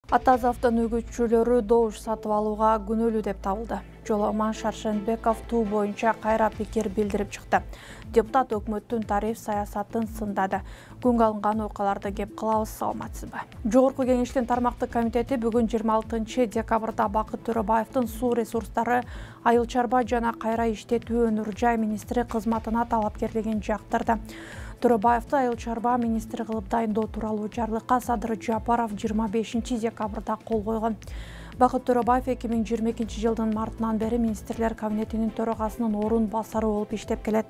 Атаз автоөнүгүүчүлөрү добуш сатып алууга күнөөлүү деп табылды. Жоламан Шаршенбеков туу боюнча кайра пикир билдирип чыкты. Депутат өкмөттүн тариф саясатын сындады. Күнгө алынган окуяларды кеп кылабыз, саламатсызбы? Жогорку кеңештин тармактык комитети бүгүн 26 декабрда Бакыт Төрөбаевдин суу ресурстары, айыл чарба жана кайра иштетүү өнөр жай министри кызматына талапкерлигин жактырды. Төрөбаевди айыл чарба министри кылып дайындоо тууралуу жарлыкка Садыр Жапаров 25 декабрда кол койгон. Бакыт Төрөбаев 2022 жылдын мартынан бери министрлер кабинетинин төрагасынын орун басары болуп иштеп келет.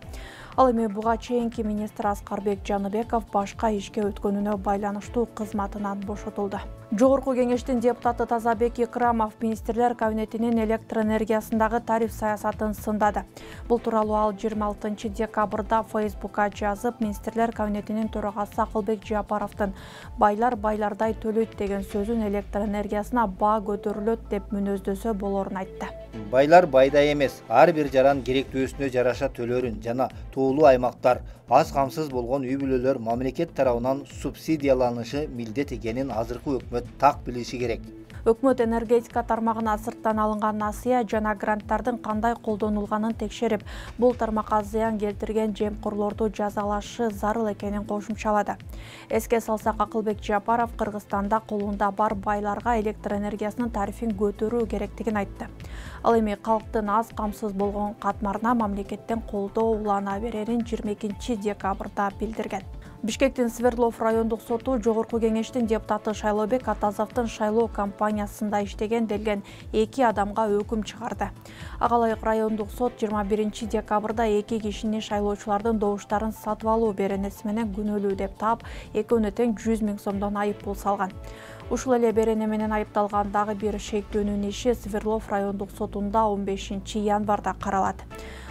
Ал эми буга чейинки министр Аскарбек Жаныбеков башка ишке өткөнүнө байланыштуу кызматынан бошотулду. Жогорку кеңештин депутаты Тазабек Икрамов министрлер кабинетинин электр энергиясындагы тариф саясатын сындады. Бул тууралуу ал 26 декабрда Facebook'ка жазып, министрлер кабинетинин төрагасы Акылбек Жапаровдун байлар байлардай төлөйт деген сөзүн электр энергиясына баа көтөрүлөт деп мүнөздөсө болорун айтты. Байлар байдай эмес, ар бир жаран керектүүсүнө жараша төлөрүн жана тоолуу аймактар, аз камсыз болгон үй бүлөлөр мамлекет тарабынан субсидияланышы милдет экенин азыркы өкмөт так билиши керек. Өкмөт энергетика тармагына сырттан алынган насыя жана гранттардын кандай колдонулганын текшерип, бул тармакка зыян келтирген жемкорлорду жазалашы зарыл экенин кошумчалады. Эске салсак, Акылбек Жапаров Кыргызстанда колунда бар байларга электр энергиясынын тарифин көтөрүү керектигин айтты. Ал эми калктын аз камсыз болгон катмарына мамлекеттен колдоо улана берерин 22 декабрда билдирген. Бишкектин Свердлов райондук соту жогорку кеңештин депутаты Шайлообек Атазовдун шайлоо кампаниясында иштеген делген 2 адамга өкүм чыгарды. Ага ылайык райондук сот 21 декабрда 2 кишини шайлоочулардын добуштарын сатып алуу беренеси менен күнөөлүү деп таап, экөөнө тең 100 000 сомдон айып пул салган. Ушул эле берене менен айыпталган дагы бир шектөөнүн иши Свердлов райондук сотунда 15 январда каралат.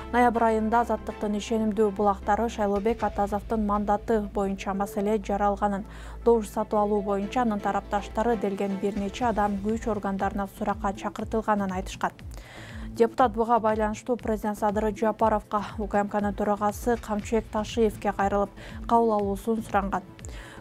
Ноябрь айында Азаттыктын ишенимдүү булактары Шайлообек Атазовдун мандаты боюнча маселе жаралганын, добуш сатып алуу боюнча анын тарапташтары делген бир нече адам күч органдарына суракка чакыртылганын айтышкан. Депутат буга байланыштуу президент Садыр Жапаровго, УКМКнын төрагасы Камчыбек Ташиевке кайрылып, кабыл алуусун суранган.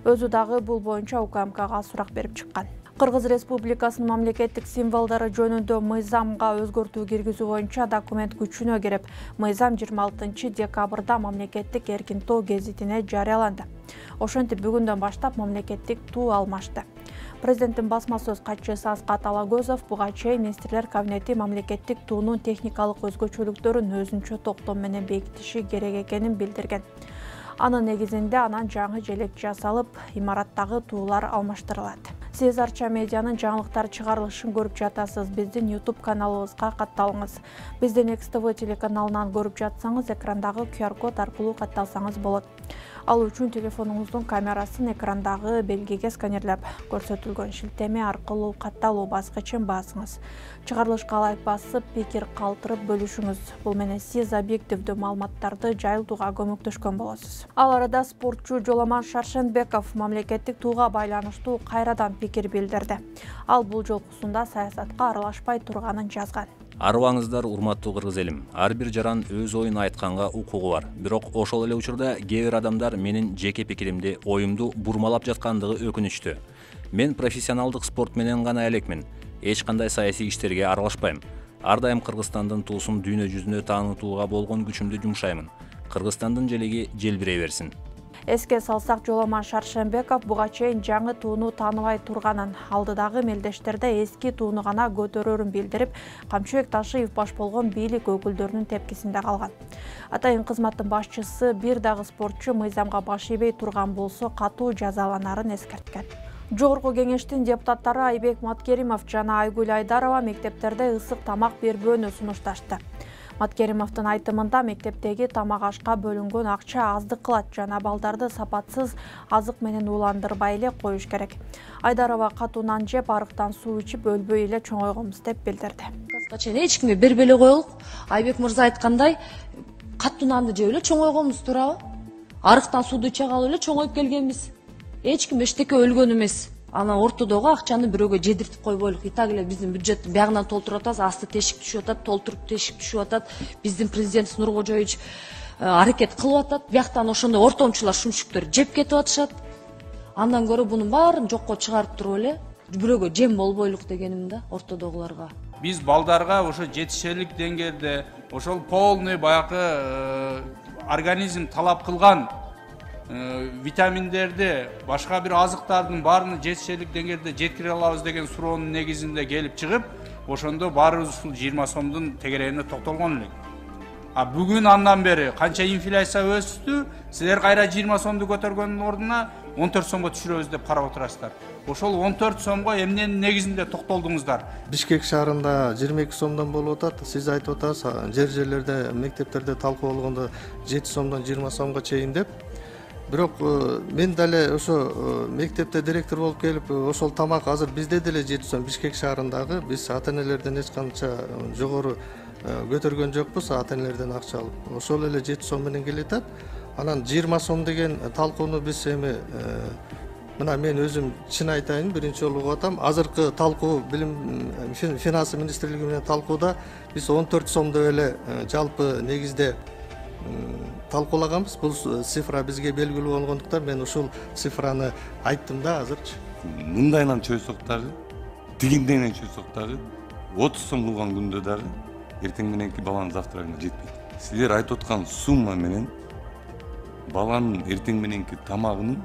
Өзү дагы бул боюнча УКМКга сурак берип чыккан. Кыргыз Республикасынын мамлекеттик символдору жөнүндө мыйзамга өзгөртүү киргизүү боюнча документ күчүнө кирип, мыйзам 26 декабрда мамлекеттик эркин тоо гезитине жарыяланды. Ошентип бүгүндөн баштап мамлекеттик туу алмашты. Президенттин басма сөз катчысы Аскат Алагөзов буга чейин министрлер кабинети мамлекеттик туунун техникалык өзгөчөлүктөрүн өзүнчө токтом менен бекитиши керек экенин билдирген. Анын негизинде анан жаңы желек жасалып, имараттагы туулар алмаштырылат. Сиз Арча медианын жаңылыктар чыгарылышын көрүп жатасыз. Биздин YouTube каналыбызга катталыңыз. Биздин XTV телеканалынан көрүп жатсаңыз, экрандагы QR-код аркылуу катталсаңыз болот. Ал үчүн телефонуңуздун камерасын экрандагы белгиге сканерлеп, көрсөтүлгөн шилтеме аркылуу катталуу баскычын басыңыз. Чыгарылышка лайк басып, пикир калтырып бөлүшүңүз. Бул менен сиз объективдүү маалыматтарды жайылтууга көмөктөшкөн болосуз. Ал арада спортчу Жоламан Шаршенбеков мамлекеттик тууга байланыштуу кайрадан пикир билдирди. Ал бул жолкусунда саясатка аралашпай турганын жазган. Арыбаңыздар, урматтуу кыргыз элим. Ар бир жаран өз оюн айтканга укугу бар. Бирок ошол эле учурда кээ бир адамдар менин жеке пикиримди, оюмду бурмалап жаткандыгы өкүнүчтүү. Мен профессионалдык спорт менен гана элекмин. Эч кандай саясий иштерге аралашпайм. Ар дайым Кыргызстандын туусун дүйнө жүзүнө таанытууга болгон күчүмдү жумшаймын. Кыргызстандын желеги желбирей берсин. Эске салсак, Жоламан Шаршенбеков буга чейин жаңы тууну тааныбай турганын, алдыдагы мелдештерде эски тууну гана көтөрөрүн билдирип, Камчыбек Ташиев баш болгон бийлик өкүлдөрүнүн тепкисинде калган. Атайын кызматтын башчысы бир дагы спортчу мыйзамга баш ийбей турган болсо катуу жазаланарын эскерткен. Жогорку кеңештин депутаттары Айбек Маткеримов жана Айгүл Айдарова мектептерде ысык тамак бербөөнү сунушташты. Маткеримовдун айтымында мектептеги тамак ашка бөлүнгөн акча аздык кылат жана балдарды сапатсыз азык менен ууландырбай эле коюш керек. Айдарова катуу нан жеп, арыктан суу ичип өлбөй эле чоңойгонбуз деп билдирди. Эч кимге бербей эле коелук. Айбек мырза айткандай, катуу нанды жеп эле чоңойгонбуз, туурабы? Арыктан сууду иче калып эле чоңоюп келгенбиз. Эч ким эчтеке өлгөн эмес. Ана ортодогу акчаны бирөөгө жедиртип койбойлук. И так эле биздин бюджеттин биягынан толтуруп атабыз, асты тешик түшүп атат, толтуруп тешик түшүп атат. Биздин президентибиз Нуркожоевич аракет кылып атат. Бияктан ошондой ортомчулар, шумшүктөр жеп кетип атышат. Андан көрө бунун баарын жокко чыгарып туруп эле бирөөгө жем болбойлук дегеним да ортодогуларга. Биз балдарга ошо жетишерлик деңгээлде ошол полный баягы организм талап кылган витаминдерди, башка бир азыктардын баарын жетишерлик деңгээлде жеткире алабыз деген суроонун негизинде келип чыгып, ошондо баарыбыз ушул 20 сомдун тегерегине токтолгон элек. Бүгүн андан бери канча инфляция өстү, силер кайра 20 сомду көтөргөндүн ордуна 14 сомго түшүрөбүз деп карап отурасыздар. Ошол 14 сомго эмненин негизинде токтолдуңуздар? Бишкек шаарында 22 сомдон болуп атат. Сиз айтып атасыз, жерлерде, мектептерде талкуу болгондо 7 сомдон 20 сомго чейин деп. Бирок мен дале ошо мектепте директор болуп келип, ошол тамак азыр бизде деле 7 сом Бишкек шаарындагы биз ата-энелерден эч канча жогору көтөргөн жокпуз, ата-энелерден акча алып. Ошол эле 7 сом менен келатат. Анан 20 сом деген талкууну биз эми мына мен өзүм чын айтайын, биринчи жолу угуп атам. Азыркы талкуу билим финансы министрлиги менен талкууда биз 14 сомдо эле жалпы негизде талкуулаганбыз. Бул цифра бизге белгилүү болгондуктан мен ушул цифраны айттым да азырчы. Мындайынан чөйсөк дагы, тигиндейинен чөйсөк дагы 30 сом кылган күндө дагы эртең мененки баланын завтрагына жетпейт. Силер айтып аткан сумма менен баланын эртең мененки тамагынын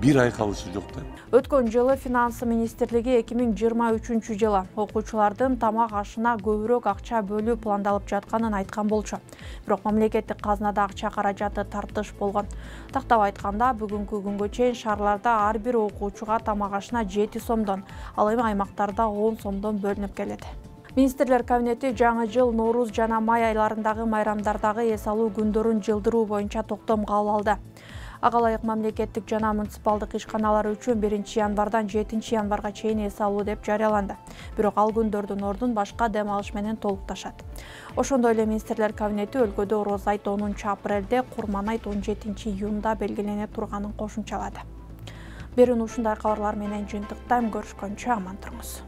бир ай калышы жок да. Өткөн жылы финансы министрлиги 2023 жылы окуучулардын тамак ашына көбүрөөк акча бөлүү пландалып жатканын айткан болчу. Бирок мамлекеттик казнада акча каражаты тартыш болгон. Тактап айтканда, бүгүнкү күнгө чейин шаарларда ар бир окуучуга тамак ашына 7 сомдон, ал эми аймактарда 10 сомдон бөлүнүп келет. Министрлер кабинети жаңы жыл, Норуз жана май айларындагы майрамдардагы эс алуу күндөрүн жылдыруу боюнча токтом кабыл алды. Ага ылайык мамлекеттик жана муниципалдык ишканалар үчүн 1-январдан 7-январга чейин эс алуу деп жарыяланды. Бирок ал күндөрдүн ордун башка дем алыш менен толукташат. Ошондой эле министрлер кабинети өлкөдө Ороз айт 10-апрелде, Курман айт 17-июнда белгилене турганын кошумчалады. Берүүнү ушундай кабарлар менен жыйынтыктайм. Көрүшкөнчө аман туруңуз.